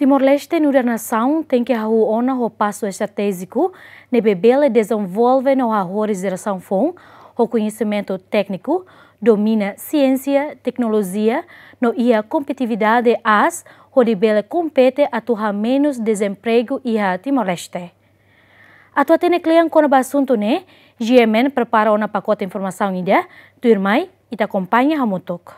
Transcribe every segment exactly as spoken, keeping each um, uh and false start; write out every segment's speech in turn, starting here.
Timor-Leste nu'udar nasaun tenke hahú ona ho pasu estratéjiku ne'ebé bele dezenvolve no hahú jerasaun foun ho koñesimentu tékniku, domina siénsia, teknolojia no iha kompetitividade aas hodi bele kompete atu hamenus dezempregu iha Timor-Leste. Atu hatene kle'an kona-ba asuntu ne'e, G M N prepara ona pakote informasaun ida, tuirmai ita akompaña hamutuk.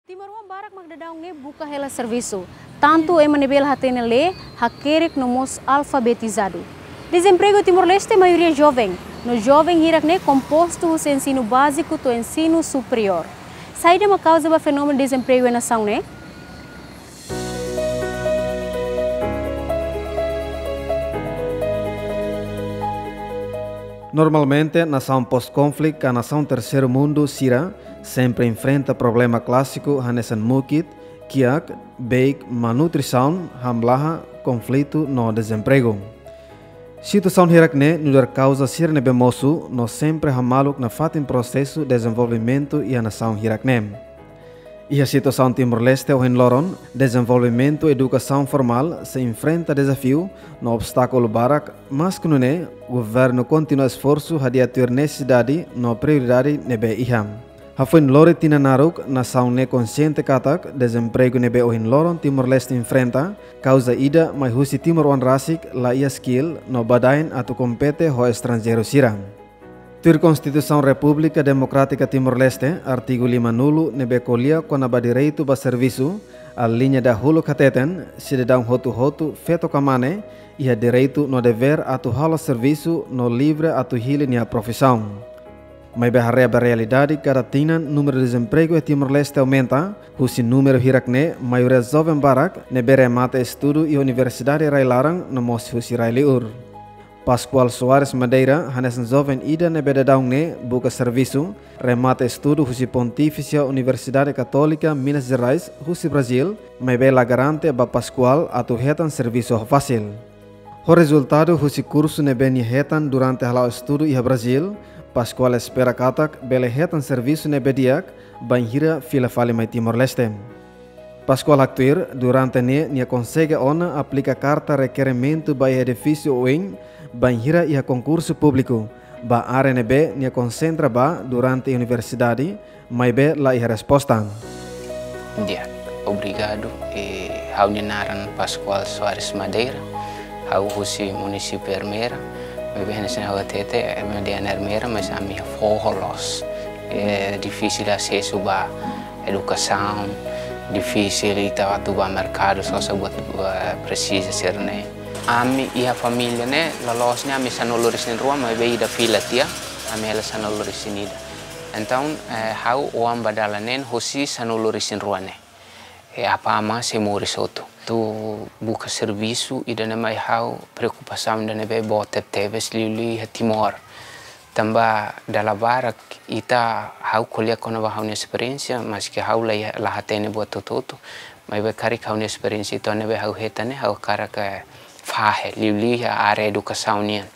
Timoroan barak mak daudaun ne'e buka hela servisu, tantu ema ne'ebé la hatene lee, hakerek no mós alfabetizadu. Dezempregu Timor-Leste maioria joven, no joven hirak-ne'e kompostu husi ensinu báziku to'o ensinu superiór. Saida mak kauza ba fenómenu dezempregu iha nasaun ne'e? Normalmente, nasaun pós-konflitu ka nasaun terseiru mundu sira sempre enfrenta problema klásiku hanesan mukit, kiak, beik, malnutrisaun, hamlaha, konflitu no dezempregu. Situasaun hirak-ne'e nu'udar kauza sira ne'ebé mosu no sempre hamaluk nafatin prosesu dezenvolvimentu iha nasaun hirak-ne'e. Iha situasaun Timor-Leste ohin loron, dezenvolvimentu edukasaun formál sei enfrenta dezafiu no obstákulu barak, maske nune'e, governu kontinua esforsu hodi atu tuir nesesidade no prioridade ne'ebé iha. Hafoin lori tinan naruk, nasaun ne'e konxiente katak dezempregu ne'ebé ohin loron Timor-Leste enfrenta, kauza ida mai husi timoroan rasik la iha skill no badaen atu kompete ho estranjeiru sira. Tuir Konstituisaun Repúblika Demokrátika Timor-Leste, artigu lima-nulu ne'ebé ko'alia kona-ba direitu ba servisu, aliña dahuluk hateten, sidadaun hotu-hotu feto ka mane, iha direitu no devér atu halo servisu no livre atu hili nia profisaun. Maibé haree ba realidade, kada tinan númeru dezempregu iha Timor-Leste aumenta, husi númeru hirak-ne'e, maioria joven barak ne'ebé remata estudu iha universidade rai-laran no mós husi rai-liur. Pascoal Soares Madeira, hanesan joven ida ne'ebé daudaun ne'e buka servisu, remata estudu husi Pontifísia Universidade Katólika Minas Gerais, husi Brazil, maibé la garante ba Pascoal atu hetan servisu ho fasil. Ho rezultadu husi kursu ne'ebé nia hetan durante hala'o estudu iha Brazil, Pascoal espera katak bele hetan servisu ne'ebé di'ak, bainhira fila fali mai Timor-Leste. Pascoal haktuir, durante ne'e nia konsege ona aplika karta rekerimentu ba iha edifísiu oin, bainhira iha konkursu públiku, ba área ne'ebé nia konsentra ba durante universidade, maibé la iha resposta. Di'ak, obrigadu. E, ha'u-nia naran Pascoal Soares Madeira, ha'u husi munisípiu Ermera, maibé hanesan ha'u hatete, ema dehan Ermera, mas ami iha foho loos. E, difisil asesu ba edukasaun, difisil ita atu ba merkadu, sosa buat, eh, presiza sira-ne'e. Ami iha família ne'e, loloos ne'e ami sanulu-resin-rua, maibé ida fila tiha, ami hela sanulu-resin-ida. Entaun, eh, ha'u oan ba dala neen husi sanulu-resin-rua ne'e. E apá amá sei moris hotu. Atu buka servisu, ida-ne'e mai ha'u preokupasaun ida ne'ebé boot tebetebes liuliu iha Timor. Tanba dala barak ita, ha'u ko'alia kona-ba ha'u-nia esperiénsia, maske ha'u la, la hatene buat hotu-hotu, maibé karik ha'u-nia esperiénsia ida ne'ebé ha'u hetan ne'e, ha'u hakarak fahe liuliu iha área edukasaun nian.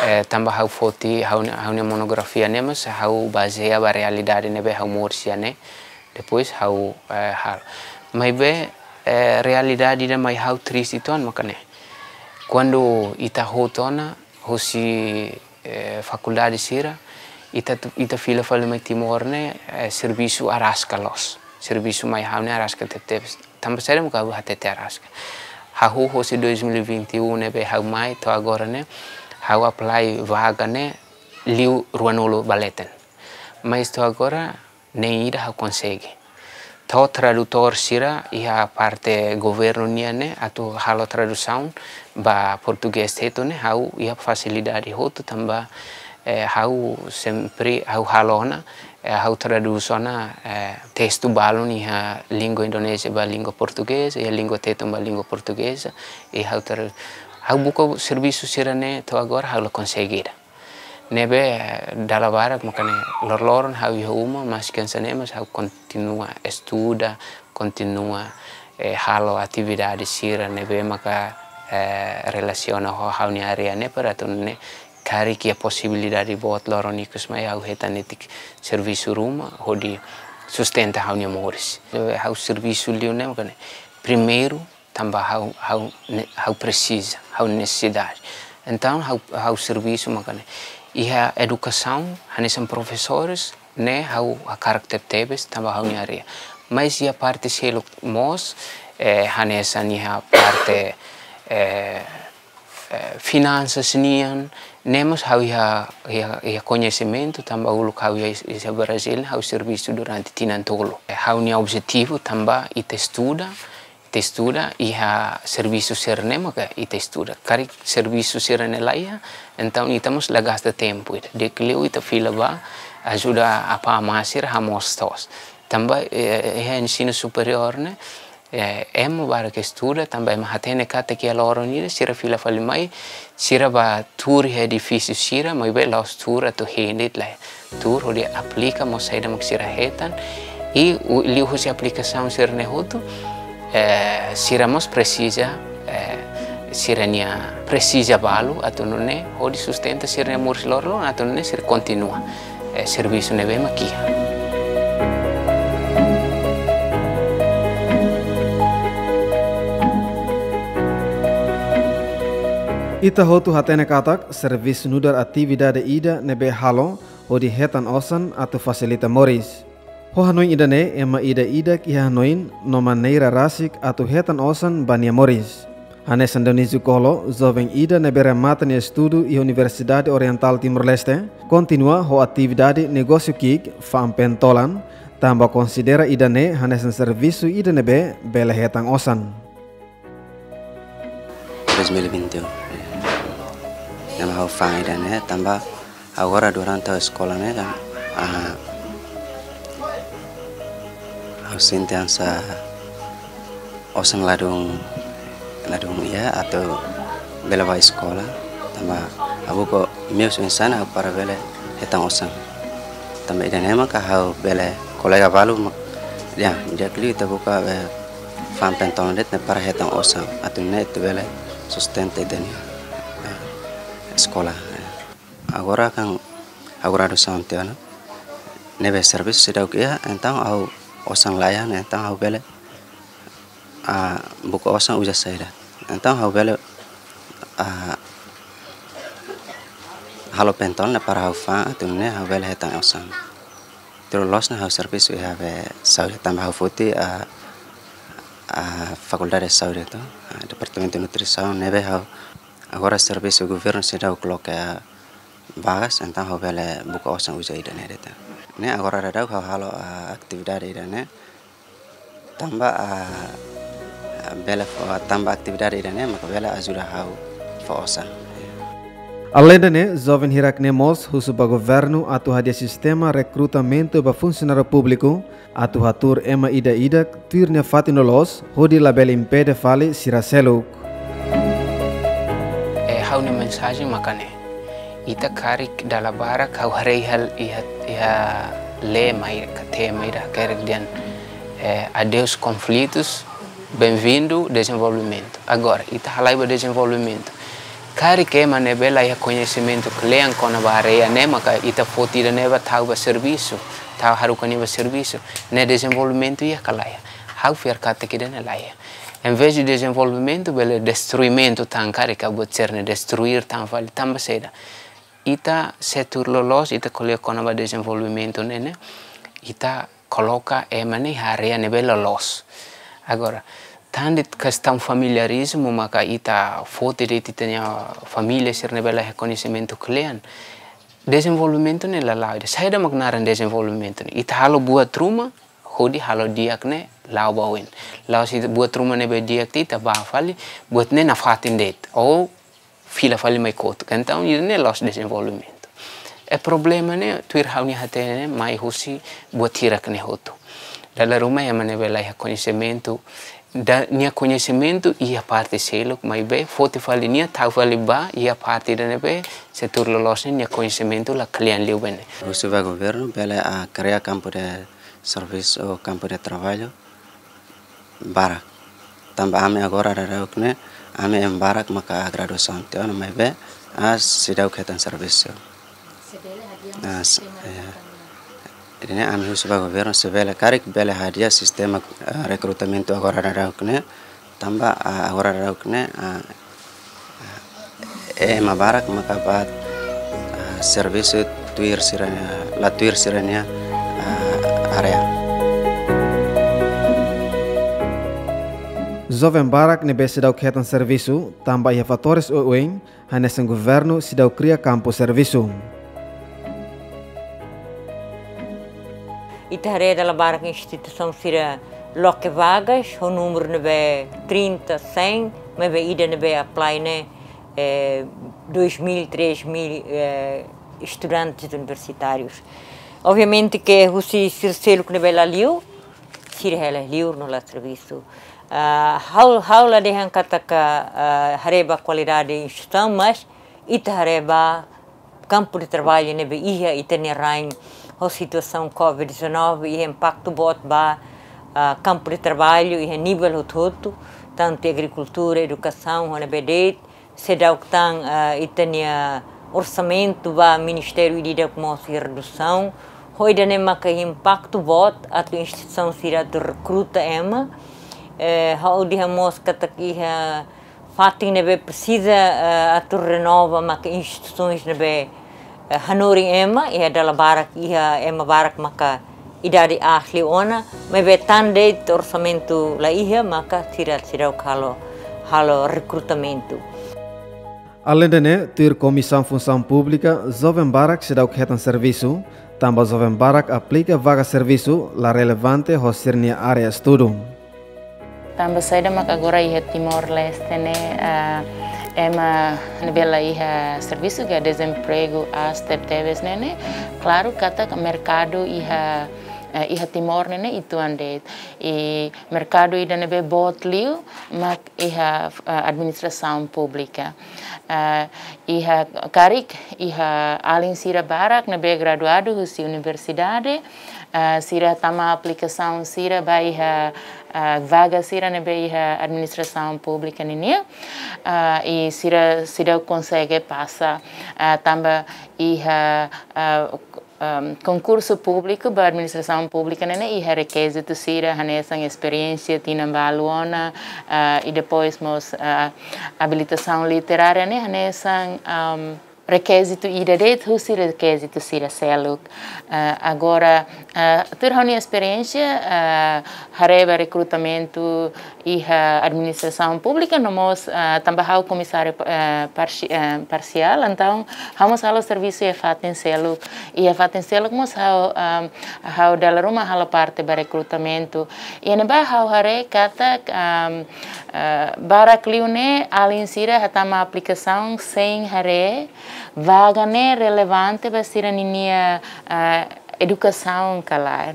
Eh, tanba ha'u foti ha'u-nia, ha'u-nia monografia ne'e mós ha'u bazeia ba realidade ne'ebé ha'u moris iha ne'e. Depois ha'u, eh, halo. Maibé, eh, realidade ida mai ha'u triste uitoan maka ne'e. Kuandu ita hotu ona husi, eh, fakuldade sira, ita tu, ita fila fali mai Timor ne'e, eh, servisu araska loos. Servisu mai ha'u ne'e araska tebetebes. Tanba saida mak ha'u hatete araska? Hahú husi dois mil e vinte e um ne'ebé ha'u mai to'o agora ne'e, ha'u apply vaga ne'e liu ruanulu ba leten. Mas to'o agora, nein ida ha'u konsege. To'o tradutór sira iha parte governu nian ne'e atu halo tradusaun ba portugés hetan ne'e ha'u iha fasilidade hotu tanba, eh, ha'u sempre ha'u halo ona, eh, ha'u tradús ona, eh, testu balun iha língua Indonézia ba língua portugeza, iha língua Tetun ba língua portugeza, i ha'u tra-, ha'u buka servisu sira-ne'e to'o agora ha'u la konsege ida. Ne'ebé, eh, dala barak maka ne'e loroloron ha'u iha uma, maske hanesan ne'e mas ha'u kontinua estuda, kontinua, eh, halo atividade sira ne'ebé maka, eh, relasiona ho ha'u-nia área ne'e para atu nune'e karik iha posibilidade boot loron ikus mai ha'u hetan netik servisu ruma hodi sustenta ha'u-nia moris. Ha'u servisu liu ne'e mak ne'e. Primeiru, tanba ha'u, ha'u ne-, ha'u presiza, ha'u nesesidade. Entaun, ha'u, ha'u servisu mak ne'e. Iha edukasaun, hanesan profesores, ne'e ha'u hakarak tebetebes, tanba ha'u-nia área. Mas iha parte seluk mós, eh, hanesan iha parte, eh, eh, finansas nian, ne'e mós ha'u iha, iha, iha koñesimentu, tanba uluk ha'u iha, iha Brazil, ha'u servisu durante tinan tolu. Eh, ha'u-nia objetivu tanba ita estuda, ita estuda, iha servisu sira-ne'e maka ita estuda. Karik servisu sira-ne'e laiha, entaun ita mós la gasta tempu ida. Di'ak liu ita fila ba ajuda apá amá sira hamoos to'os. Tanba, eh, iha ensinu superiór ne'e, eh, ema barak estuda, tanba ema hatene katak iha loron ida, sira fila fali mai, sira bá tuur iha edifísiu sira, maibé la'ós tuur atu hein de'it lae. Tuur hodi aplika mós saida mak sira hetan, i u-, liuhusi aplikasaun sira-ne'e hotu, eh, sira mós presiza, eh, sira-nia presiza balu atu nune'e, hodi sustenta sira-nia moris loroloron atu nune'e sira kontinua, eh, servisu ne'ebé mak iha. Ita hotu hatene katak, servisu nu'udar atividade ida ne'ebé halo hodi hetan osan atu fasilita moris. Ho hanoin ida-ne'e, ema ida-idak iha hanoin no maneira rasik atu hetan osan ba nia moris. Hanesan Dionísio Colo, joven ida ne'ebé remata nia estudu iha Universidade Orientál Timor-Leste, kontinua ho atividade negósiu ki'ik, fa'an pentolan, tanba konsidera ida-ne'e hanesan servisu ida ne'ebé bele hetan osan. Dois mil e vinte e um. Ne'e mak ha'u fa'an ida-ne'e, tanba agora durante ha'u eskola ne'e kan, ah, ha'u sente hanesan osan ladún, ladún iha atu bele bá eskola, tanba ha'u buka meius oinsá ha'u para bele hetan osan. Tanba ida-ne'e maka ha'u bele kolega balu mak, ya, di'ak liu ita buka, eh, fa'an pentolan de'it ne'e para hetan osan, atu nune'e ita bele sustenta ita-nia, eh, eskola, eh. Agora kan ha'u graduasaun tiha ona, ne'ebé servisu seidauk iha, entaun ha'u osan laiha, entaun ha'u bele, ah, buka osan uza saida. Entaun ha'u bele, ah, halo pentolan ne'e para ha'u fa'an, atu nune'e ha'u bele hetan osan. Tuir loloos ne'e ha'u servisu iha be saúde tanba ha'u foti, ah, ah, Fakuldade Saúde to'o, ah, Departamentu Nutrisaun, ne'ebé ha'u agora servisu governu seidauk loke, ah, vagas, entaun ha'u bele buka osan uza ida-ne'e de'it. Ne'e agora daudaun ha'u halo, ah, atividade ida-ne'e. Tanba, ah, bele fó, tanba atividade ida-ne'e maka bele ajuda ha'u fó osan. Aleinde ne'e, joven hirak-ne'e mós husu ba governu atu hadi'a sistema rekrutamentu ba funsionáriu públiku, atu hatuur ema ida-idak tuir nia fatin loloos, hodi labele impede fali sira seluk. Eh, ha'u-nia mensajen maka ne'e. Ita karik dala barak ha'u haree iha, iha, iha lema ida ka tema ida karik dehan, eh, adeus konflitus, bem-vindo dezenvolvimentu. Agora, ita halai ba dezenvolvimentu. Karik ema ne'ebé la iha koñesimentu kle'an kona-ba área ne'e maka ita foti ida-ne'e bá tau ba servisu, tau haruka nia ba servisu. Ne'e dezenvolvimentu iha ka laiha? Ha'u fiar katak ida-ne'e laiha. Em vez de dezenvolvimentu, bele destruimentu tan karik ka buat sira-ne'e destruir tan fali tanba saida. Ita setór loloos, ita ko'alia kona-ba dezenvolvimentu ne'e, ne'e, ita koloka ema ne'e iha área ne'ebé loloos. Agora, tan de'it kestaun familiarizmu maka ita foti de'it ita-nia família sira ne'ebé la iha koñesimentu kle'an. Dezenvolvimentu ne'e la la'o ida. Saida mak naran dezenvolvimentu ne'e? Ita halo buat ruma, hodi halo di'ak ne'e la'o ba oin. La'ós ita buat ruma ne'ebé di'ak ita bá fali, buat ne'e nafatin de'it. Ou fila fali mai kotuk. Entaun, ida-ne'e la'ós dezenvolvimentu. I problema ne'e, tuir ha'u-nia hatene ne'e, mai husi buat hirak-ne'e hotu. Dala ruma ema ne'ebé la iha koñesimentu, da-, nia koñesimentu iha parte seluk, maibé foti fali nia, tau fali ba iha parte ida ne'ebé setór loloos ne'e nia koñesimentu la kle'an liu ba ne'e. Husu ba governu, bele, ah, kria kampu de servisu ou kampu de traballu barak. Tanba ami agora daudauk ne'e, ami ema barak maka graduasaun tiha ona maibé, ah, seidauk hetan servisu. Ah, s-, ya. Ida-ne'e ami husu ba governu se bele karik bele hadi'a sistema, eh, rekrutamentu agora daudauk ne'e, tanba, ah, agora daudauk ne'e, ah, ah, ema barak maka bá, ah, servisu tuir sira-nia, la tuir sira-nia, ah, área. Joven barak ne'ebé seidauk hetan servisu, tanba iha fatores oioin, hanesan governu seidauk kria kampu servisu. Ita haree dala barak instituisaun sira loke vagas, ho númeru ne'ebé trinta, cem, maibé ida ne'ebé apply ne'e, eh, dois mil, três mil, eh, estudantes universitárius. Obviamente ke husi sira seluk ne'ebé la liu, sira hela liur no la servisu. Ah, ha'u, ha'u la dehan katak, ah, haree ba kualidade instituisaun, mas ita haree ba kampu de traballu ne'ebé iha ita-nia rain ho situasaun covid dezanove iha impaktu boot ba, ah, kampu de traballu iha nivel hotu-hotu, tantu agrikultura, edukasaun, ho ne'ebé de'it, seidauk tan, ah, ita-nia orsamentu ba ministériu ida-idak mós iha redusaun, ho ida-ne'e maka impaktu boot atu instituisaun sira atu rekruta ema, eh, ha'u dehan mós katak iha fatin ne'ebé presiza, eh, atu renova maka instituisaun ne'ebé, eh, hanorin ema, iha dala barak, iha ema barak maka idade aas liu ona, maibé tan de'it orsamentu la iha, maka sira seidauk halo, halo rekrutamentu. Aleinde ne'e, tuir Komisaun Funsaun Públika, joven barak seidauk hetan servisu, tanba joven barak aplika vaga servisu la relevante ho sira-nia área estudu. Tanba saida mak agora iha Timor-Leste ne'e, ah, ema ne'ebé la iha servisu ka dezempregu aas tebetebes ne'e, ne'e, klaru katak merkadu iha, eh, iha Timor ne'e, ne'e uitoan de'it. I merkadu ida ne'ebé boot liu mak iha, eh, administrasaun públika. Eh, iha karik, iha alin sira barak ne'ebé graduadu husi universidade, eh, sira tama aplikasaun sira ba iha, eh, vaga sira ne'ebé iha administrasaun públika ninian, eh, i sira seidauk konsege pasa, eh, tanba iha, eh, ehm, konkursu públiku ba administrasaun públika ne'e, ne'e iha rekizitu sira hanesan esperiénsia tinan balu ona, eh, i depois mós, eh, abilitasaun literária ne'e hanesan, ehm, rekizitu ida de'it husi rekizitu sira seluk. Eh, agora, eh, tuir ha'u-nia esperiénsia, eh, haree ba rekrutamentu iha administrasaun públika no mós, ah, tanba ha'u komisáriu, eh, parsi-, eh, parsiál, entaun ha'u mós halo servisu iha fatin seluk. Iha fatin seluk mós ha'u, ah, ha'u dala ruma halo parte ba rekrutamentu. Iha ne'ebá ha'u haree katak, ah, eh, barak liu ne'e alin sira hatama aplikasaun sein haree vaga ne'e relevante ba sira ninia, ah, edukasaun ka lae.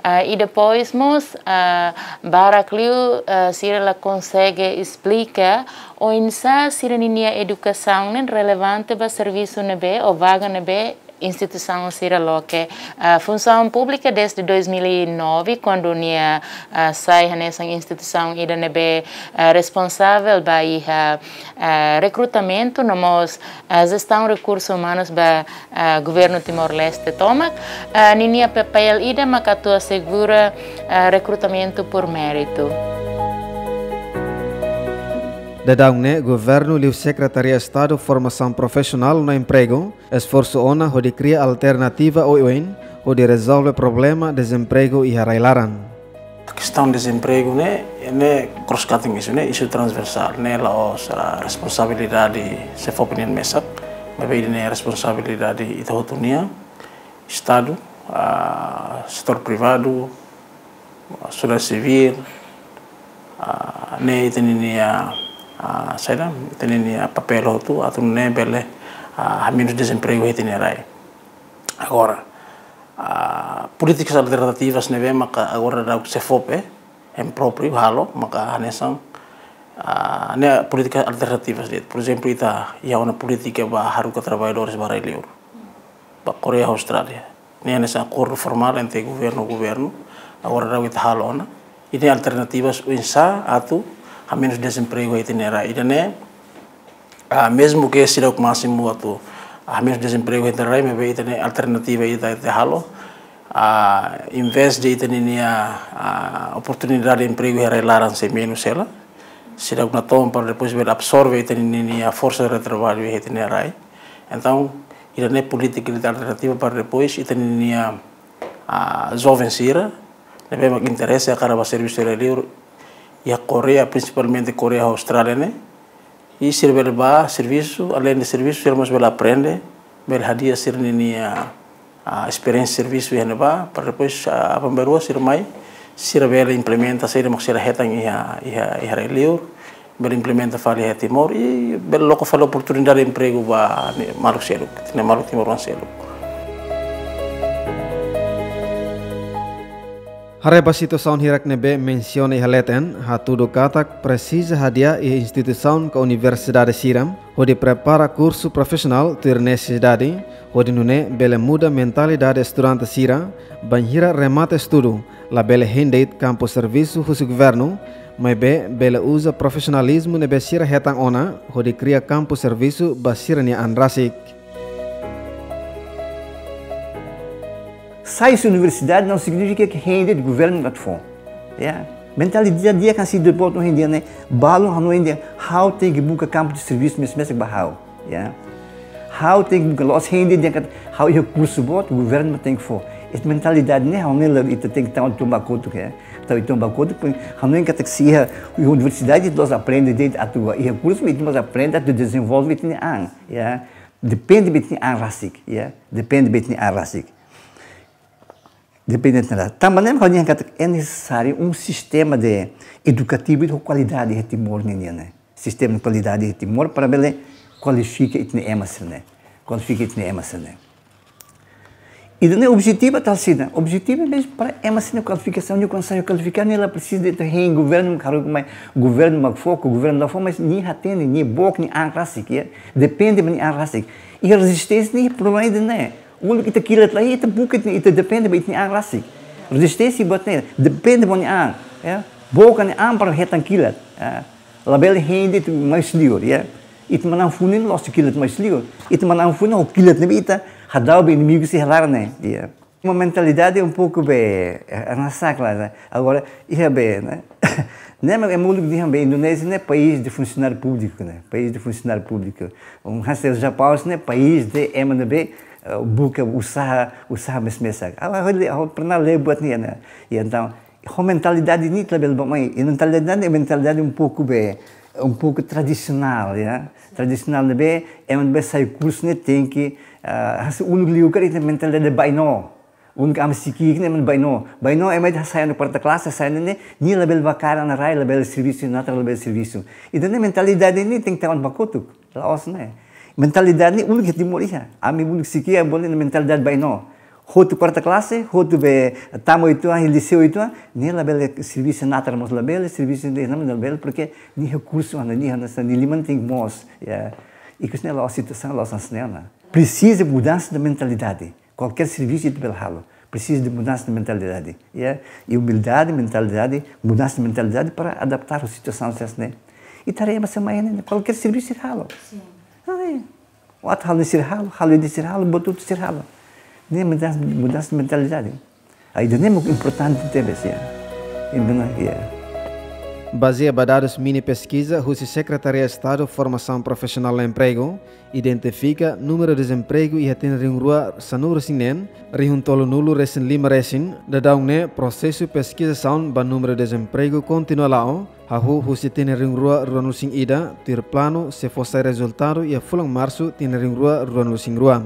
Ah, i depois mós, ah, barak liu, ah, sira la konsege esplika oinsá sira ninia edukasaun ne'e relevante ba servisu ne'ebé ou vaga ne'ebé instituisaun sira loke. Ah, Funsaun Públika dezde dois mil e nove, kuandu nia, ah, sai hanesan instituisaun ida ne'ebé, ah, responsavel ba iha, ah, rekrutamentu no mós, ah, jestaun rekursus umanus ba, ah, Governu Timor-Leste tomak, ah, ninia papél ida mak atu asegura, ah, rekrutamentu por méritu. Daudaun ne'e, Governu liu Sekretaria Estadu Formasaun Profisionál no Empregu esforsu ona hodi kria alternativa oioin hodi rezolve problema dezempregu iha rai-laran. Kestaun dezempregu ne'e, ne'e cross-cutting issue, ne'e isu transversál, ne'e la'ós, ah, responsabilidade SEFOPE nian mesak, maibé ne'e responsabilidade ita hotu nian, Estadu, ah, setór privadu, ah, sosiedade sivíl, ah, ne'e ita ninia, ah, saida, ita ninia papél hotu, atu nune'e bele, ah, hamenus dezempregu iha ita-nia rai. Agora, ah, polítikas alternativas ne'ebé maka agora daudaun SEFOPE, eh, em própriu halo, maka hanesan, ah, ne'e polítikas alternativas de'it. Por ezemplu, ita iha ona polítika ba haruka traballadores ba rai-liur, ba Koreia, Austrália. Ne'e hanesan akordu formál entre governu, governu. Agora daudaun ita halo ona. I ne'e alternativas oinsá atu hamenus dezempregu iha ita-nia rai. Ida-ne'e, ah, mezmu ke seidauk másimu atu, ah, hamenus dezempregu iha ita-nia rai, maibé ita-nia alternativa ita, ita halo. Ah, invés de ita ninia, ah, oportunidade de emprego iha rai-laran sei menus hela, sira natoon para depois bele absorve ita ninia forsa de trabalho iha ita-nia rai. Entaun, ida-ne'e polítika ida alternativa para depois ita ninia, ah, joven sira ne'ebé mak interese hakarak bá servisu iha rai-liur, iha Koreia, prinsipalmente Koreia ho Austrália ne'e. I sira bele bá servisu, além de servisu, sira mós bele aprende, bele hadi'a sira ninia, ah, esperiénsia servisu iha ne'ebá, para depois, ah, aban-bainrua sira mai, sira bele implementa saida mak sira hetan iha, iha, iha rai-liur, bele implementa fali iha Timor, i bele loke fali oportunidade de emprego ba ne'e maluk seluk, ne'e maluk timoroan seluk. Haree ba situasaun hirak ne'ebé mensiona iha leten, hatudu katak presiza hadi'a iha instituisaun ka universidade sira, hodi prepara kursu profisionál tuir nesesidade, hodi nune'e bele muda mentalidade estudante sira, bainhira remata estudu, labele hein de'it kampu servisu husi governu, maibé bele uza profisionalizmu ne'ebé sira hetan ona, hodi kria kampu servisu ba sira-nia an rasik. Sai husi universidade não significa que hein de'it governu mak atu fó. Ya. Mentalidade di'ak hanesan ita-boot ohin dehan ne'e, balun hanoin dehan, ha'u tenke buka kampu de servisu mesak-mesak ba ha'u. Ya. Ha'u tenke buka, la'ós hein de'it dehan katak ha'u iha kursu boot, governu mak tenke fó. Ita mentalidade ne'e, ha'u hanoin lae ita tenke tau atu bá kotuk, ya. Tau atu bá kotuk, hanoin katak se iha universidade, ita la'ós aprende de'it atu iha kursu, ita mós aprende atu dezenvolve ita-nia an, ya. Depende ba ita-nia an rasik, ya. Depende ba ita-nia an rasik. Depende ba ita-nia an rasik. Tanba ne'e mak ha'u dehan katak é nesesáriu um sistema de edukativu de kualidade iha Timor ninian ne'e. Sistema de kualidade iha Timor para bele kualifika ita-nia ema sira-ne'e. Kualifika ita-nia ema sira-ne'e. Ida-ne'e objetivu atu saida? Objetivu é mesmu para ema sira-nia kualifikasaun, nia kondisaun kualifika, nia la presiza de'it hein governu mak haruka mai, governu mak fó, ka governu la fó, mas nia hatene, nia book nia an rasik, ya. Depende ba nia an rasik. I rezisténsia ne'e problema ida-ne'e. Uluk ita kilat lai, ita buka, ita, ita depende ba ita-nia an rasik. Rezisténsia buat ne'e, depende ba nia an, ya. Book nia an para hetan kilat, ya. Labele hein de'it mai husi liur, ya. Ita manán funu ne'e la'ós kilat mai husi liur. Ita manán funu ho kilat ne'ebé ita hadau ba inimigu sira iha laran ne'e, ya. Uma mentalidade um pouco be, eh, hanesan klaru, né? Agora, iha be, né? Ne'e mak ema uluk dehan be Indonézia ne'e país de funcionário público, né? País de funcionário público. Um hanesan Japaun ne'e país de ema ne'ebé, eh, buka usaha, usaha mes-mesak. Agora, ha'u, ha'u pernah lee buat ne'e, né? I entaun, ho mentalidade ne'e labele bá mai. I mentalidade ne'e mentalidade um pouco be, um pouco tradisionál, ya. Tradisionál ne'ebé, ema ne'ebé sai kursu ne'e tenke, ah, hanesan uluk liu karik ita-nia mentalidade bainó. Uluk ami sei ki'ik ne'e ema bainó. Bainó ema ida sai ona kuarta klase, sai ona ne'e, nia labele bá kaer ona rai, labele servisu, natar labele servisu. Ida-ne'e mentalidade ne'e tenke tau ona bá kotuk. La'ós ne'e. Mentalidade ne'e uluk iha Timor iha. Ami uluk sei ki'ik, ami bolu ne'e mentalidade bainó. Hotu kuarta klase, hotu be tama oituan, liseu oituan, ne'e labele servisu, natar mós labele servisu, ne'e labele, porque nia iha kursu, nia iha hanesan, nia liman tenke moos, ya. Ikus ne'e la'ós situasaun, la'ós hanesan ne'e ona. Presiza mudansa de mentalidade. Kualkér servisu ita bele halo. Presiza de mudansa de mentalidade, ya. I umildade, mentalidade, mudansa de mentalidade para adaptar ho situasaun hanesan ne'e. Ita haree ema sira mai ne'e, kualkér servisu ita halo. Sin. Ai. Atu halo sira halo, halo ida sira halo, buat hotu sira halo. Ne'e mudansa, mudansa mentalidade. Ida-ne'e mak importante tebes, ya. Ida-ne'e, ya. Bazeia ba dadus mini peskiza husi Sekretaria Estadu Formasaun Profisionál no Empregu, identifika númeru dezempregu iha tinan rihun rua sanulu-resin-neen, rihun tolunulu-resin-lima resin, daudaun ne'e prosesu peskizasaun ba númeru dezempregu kontinua la'o, hahú husi tinan rihun rua ruanulu-resin-ida, tuir planu sei fó sai rezultadu iha fulan Marsu tinan rihun rua ruanulu-resin-rua.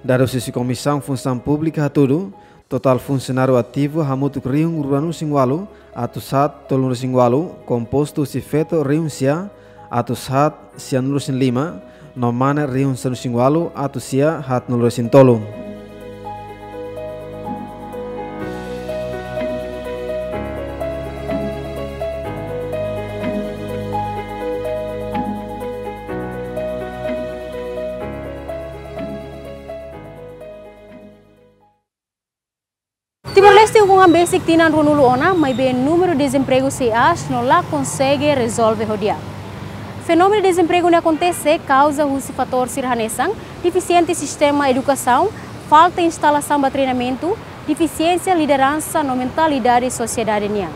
Dadus husi Komisaun Funsaun Públika hatudu, totál funsionáriu ativu hamutuk rihun ruanulu-resin-ualu, atus haat tolunulu-resin-ualu, kompostu husi feto rihun sia, atus haat sianulu-resin-lima, no mane rihun sanulu-resin-ualu, atus sia haatnulu-resin-tolu. Timor-Leste ukun an besik tinan ruanulu ona, maibé númeru dezempregu sei aas no la konsege rezolve ho di'ak. Fenómenu dezempregu ne'e akontese kauza husi fatór sira hanesan defisiente sistema edukasaun, falta instalasaun ba treinamentu, defisiénsia lideransa no mentalidade sosiedade nian.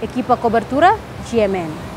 Ekipa kobertura, G M N.